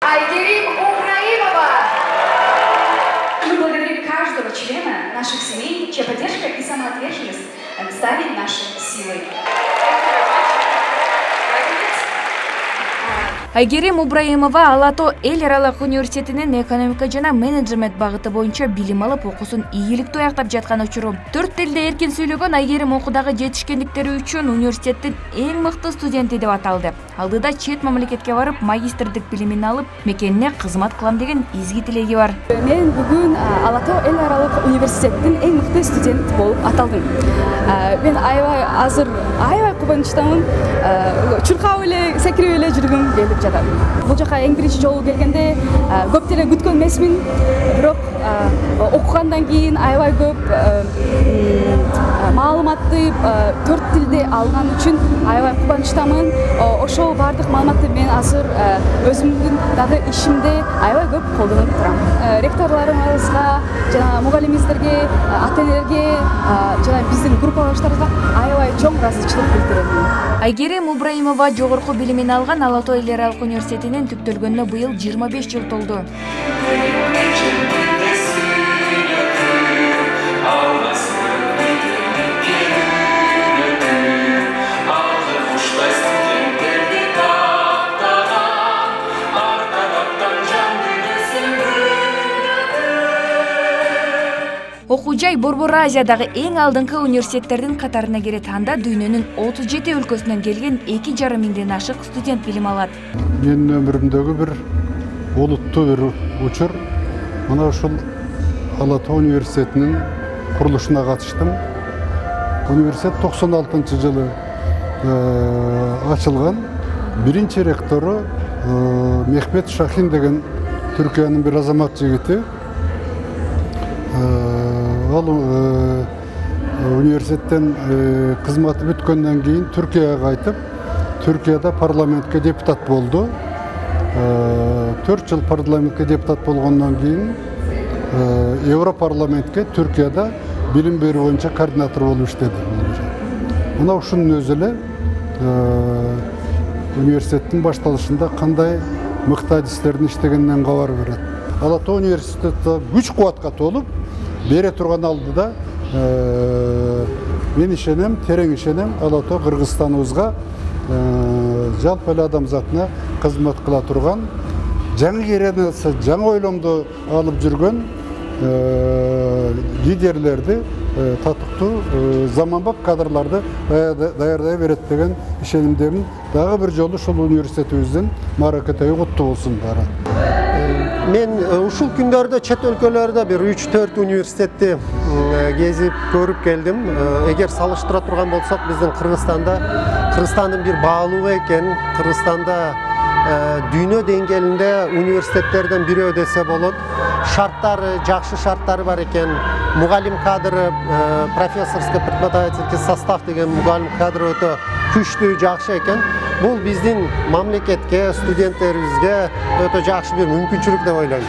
Айгерим Убраимова. Мы благодарим каждого члена наших семей, чья поддержка и самоотверженность стали нашей силой. Айгерим Убраимова Ала Тоо эл аралык университетинин экономика жана менеджмент багыты боюнча билим алып, окуусун ийгиликтүү аяктап жаткан учуру. 4 тилде эркин сүйлөгөн Айгерим окуудагы жетишкендиктери үчүн университеттин эң мыкты студенти деп аталды. Алдыда чет мамлекетке барып, магистрдик билимин алып, мекенине кызмат кылам деген изги тилеги бар. Мен бүгүн Ала Тоо эл аралык университеттин эң мыкты студент болуп аталдым. Мен азыр аябай кубанычтамын. Чуркап эле, секирип эле жүргүм келип жатат. Бул жака эң биринчи жолу келгенде көп деле күткөн эмесмин. Бирок окугандан кийин аябай көп маалыматты 4 тилде алган үчүн аябай кубанычтамын. Ошол бардык маалыматты мен азыр өзүмдүн дагы ишимде аябай көп колдонуп турам. Ректорлорубузга жана мугалимибиздерге, ата-энелерге жана биздин группалаштарыбызга аябай чоң ыраазычылык билдирем. Айгерим Убраимова жогорку билимин алган Ала Тоо эл аралык университетинин түптөлгөнүнө быйыл 25 жыл толду. Окуу жай Борбор Азиядагы эң алдыңкы университеттердин катарына кирет. Анда дүйнөнүн 37 өлкөсүнөн келген 2,5 миңден ашык студент билим алат. Мен өмүрүмдөгү бир олуттуу бир учур. Мына ушул Ала Тоо университетинин курулушуна катыштым. Университет 96-жылы ачылган. Биринчи ректору Мехмет Шахин деген Түркиянын бир азамат жигити. Ал университеттен кызматы бүткөндөн кийин Түркияга кайтып, Түркияда парламентке депутат болду. 4 жыл парламентке депутат болгондон кийин Европарламентке Түркияда билим берүү боюнча координатор болуп иштеди. Мына ушунун өзү эле университеттин башталышында кандай мыкты адистердин иштегенинен кабар берет. Ала Тоо университети күч кубатка толуп бере турган алдыда мен ишенем, терең ишенем, Ала Тоо Кыргызстаныбызга жалпы эле адамзатына кызмат кыла турган, жаңы керенеси, жаңы ойломду алып жүргөн лидерлерди, татыктуу заманбап кадрларды даярдай берет деген ишенимдемин. Дагы бир жолу ушул университетибиздин мааракети куттуу болсун баары. Мен ушул күндөрдө чет өлкөлөрдө бир 3-4 университетти кезип көрүп келдим. Эгер салыштыра турган болсок, биздин Кыргызстандын бир баалуулугу экен. Кыргызстанда дүйнө деңгээлинде университеттерден бирөө десе болот. Шарттары, жакшы шарттары бар экен. Мугалим кадры, профессорский преподавательский состав деген мугалим кадры өтө күчтүү, жакшы экен. Бул биздин мамлекетке, студенттерибизге өтө жакшы бир мүмкүнчүлүк деп ойлойм.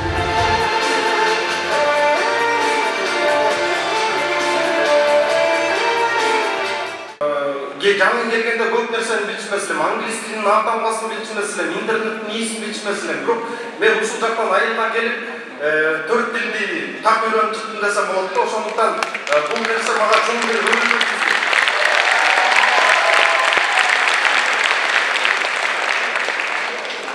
Жаңы келгенде көп нерсени билишмесилем, англис тилинин атамгасын билишмесилем, интернеттин ээсин билишмесилем. Бирок мен ушул жактан айылдан келип 4 тилди так үйрөнүп чыктым десем болот да. Ошондуктан бул нерсе мага чоң бир өнүгүү.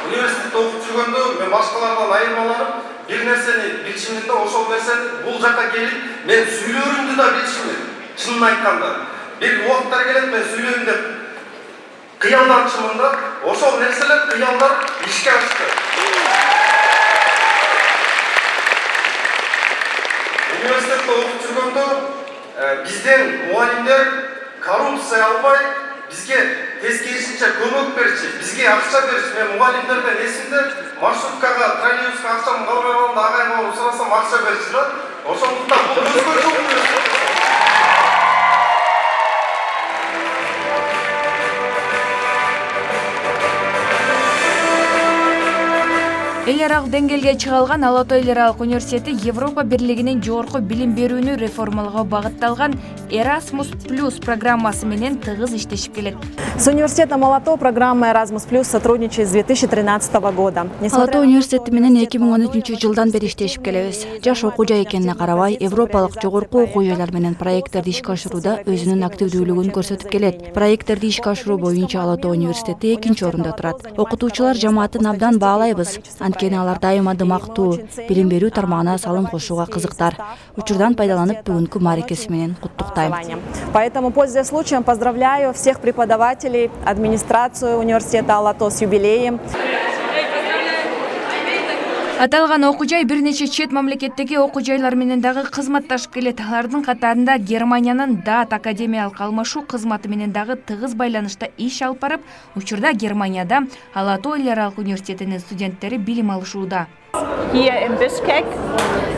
Университетте окуп жүргөндө мен башкалардан айырмаланып, бир нерсени билишимдин да, ошол нерсени бул жакка келип мен сүйлөрүмдү да билишимдин. Чынын айтканда, бир убакыттар келет мен сүйлөйм деп кыялданчымын да, ошол нерселер кыялдар ишке ашты. Университетте окуп жүргөндө бизден мугалимдер коррупция албай, бизге тескерисинче көмөк берчи, бизге акча берчи. Мен мугалимдерден эсимде, маршруткага, троллейбуска акчам калбай калганда агайыма сурасам акча берчи да. Ошондуктан бул өзгөчө университет. Эл аралык деңгээлге чыга алган Ала Тоо эл аралык университети Европа бирлигинин жогорку билим берүүнү реформалоого багытталган Erasmus Plus программасы менен тыгыз иштешип келет. С университетом Ала Тоо программа Erasmus Plus сотрудничает с 2013 года. Ала Тоо университети менен 2013 жылдан бери иштешип келебиз. Жаш окуу жай экенине карабай, европалык жогорку окуу жайлар менен проекттерди ишке ашырууда өзүнүн активдүүлүгүн көрсөтүп келет. Проекттерди ишке ашыруу боюнча Ала Тоо университети 2-орунда турат. Окутуучулар жамаатын абдан баалайбыз. Анткени алар дайыма дымактуу, билим берүү тармагына салым кошууга кызыктар. Учурдан пайдаланып бүгүнкү мааракеси менен куттуктайм. Поэтому, пользуясь случаем, поздравляю всех преподавателей, администрацию университета Ала Тоо с юбилеем. Аталган окуу жай бир нече чет мамлекеттеги окуу жайлар менен дагы кызматташып келет. Алардын катарында Германиянын ДААТ академиялык алмашуу кызматы менен дагы тыгыз байланышта иш алып барып, учурда Германияда Ала Тоо эл аралык университетинин студенттери билим алышууда. Here in Bishkek,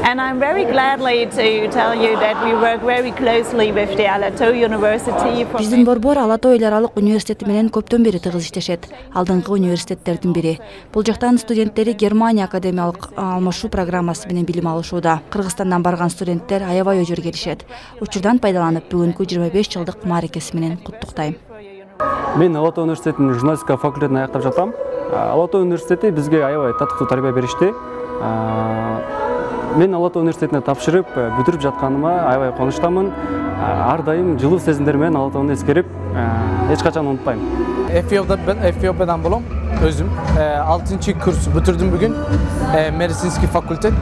and I'm very gladly to tell you that we work very closely with the Ала Тоо University. Биздин борбор Ала Тоо эл аралык университети менен көптөн бери тыгыз иштешет. Алдыңкы университеттердин бири. Бул жактан студенттери Германия академиялык алмашуу программасы менен билим алышууда. Кыргызстандан барган студенттер аябай өжөр келишет. Учурдан пайдаланып бүгүнкү 25 жылдык мааракеси менен куттуктайм. Мен Ала Тоо университетинин журналистика факультетин аяктап жатам. Ала Тоо университети бизге аябай татыктуу тарбия беришти. Мен Ала Тоо университетине тапшырып, бүтүрүп жатканыма аябай кубанычтамын. Ар дайым жылуу сезимдер менен Ала Тоону эскерип, эч качан унутпайм. Эфиопиядан болом. Өзүм 6-курс бүтүрдүм бүгүн. Медицинский факультет.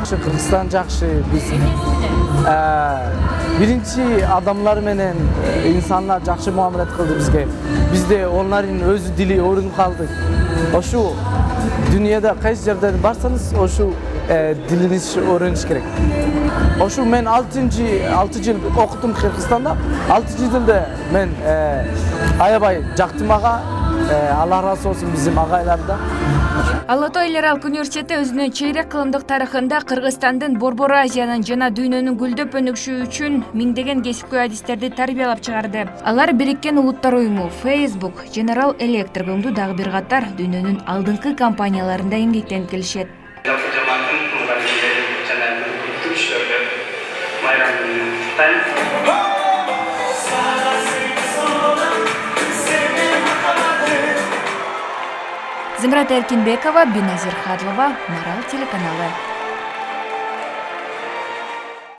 Кыргызстан жакшы. Биз биринчи адамдар менен инсандар жакшы муамилет кылды бизге. Бизде онлардын өз дили орунуп калды. Ошу дүйнөдө кайсы жерде барсаңыз, ошу дилиңиз öğreniş керек. Ошу мен 6 жыл окудум Кыргызстанда. 6 жылда мен аябай жактым ага. Алла разы болсун биздин агайлардан. Ала Тоо эл аралык университети өзүнүн чейрек кылымдык тарыхында Кыргызстандын Борбор Азиянын жана дүйнөнүн гүлдөп өнүкүшү үчүн миңдеген кесипкөй адистерди тарбиялап чыгарды. Алар Бириккен Улуттар уюму, Facebook, General Electric өңдүү дагы бир катар дүйнөнүн алдыңкы компанияларында эмгектенип келишет. Зымрат Эркинбекова, Биназир Хадлова, Марал телеканалы.